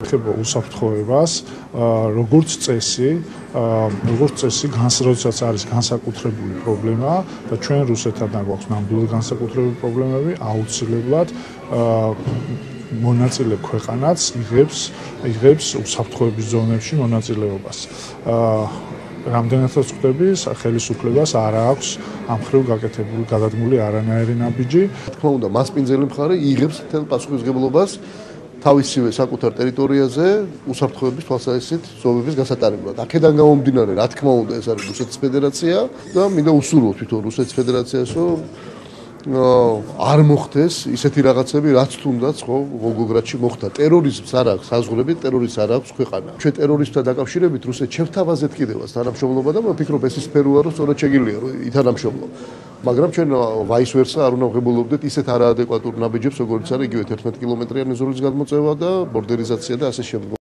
ეხება უსაფრთხოებას, როგორც წესი, როდესაც არის განსაკუთრებული პრობლემა და ჩვენ რუსეთთან გვაქვს ნამდვილად განსაკუთრებული პრობლემები, აუცილებლად მონაწილე ქვეყანაც იღებს უსაფრთხოების ზონებში მონაწილეობას. რამდენადაც ხვდები, ხელისუფლებას არ აქვს ამ მხრივ გაკეთებული არანაირი ნაბიჯი. თქმა უნდა, მასპინძელი მხარე იღებს მთელ პასუხისმგებლობას თავისივე საკუთარ ტერიტორიაზე უსაფრთხოების თვალსაზრისით ზომების გასატარებლად. აქედან გამომდინარე, რა თქმა უნდა, ეს არის რუსეთის ფედერაცია და მინდა უსურვოთ თვითონ რუსეთის ფედერაციას, რომ არ მოხდეს ისეთი რაღაცები, რაც თუნდაც ხო ვოლგოგრადში მოხდა. ტერორიზმს არ აქვს საზღვრები, ტერორიზმს არ აქვს ქვეყანა. ჩვენ ტერორიზმთან დაკავშირებით რუსეთს შევთავაზეთ კიდევაც თანამშრომლობა და ვფიქრობ ეს ის სფეროა, რომ სწორად შეგიძლია რომ ითანამშრომლო. მაგრამ ჩვენ ვაის ვერსა არ უნდა ვღებულობდეთ ისეთ არაადეკვატურ ნაბიჯებს, როგორც არის იგივე 11 კილომეტრიანი ზოლის გადმოწევა და ბორდერიზაცია და ასე შემდეგ.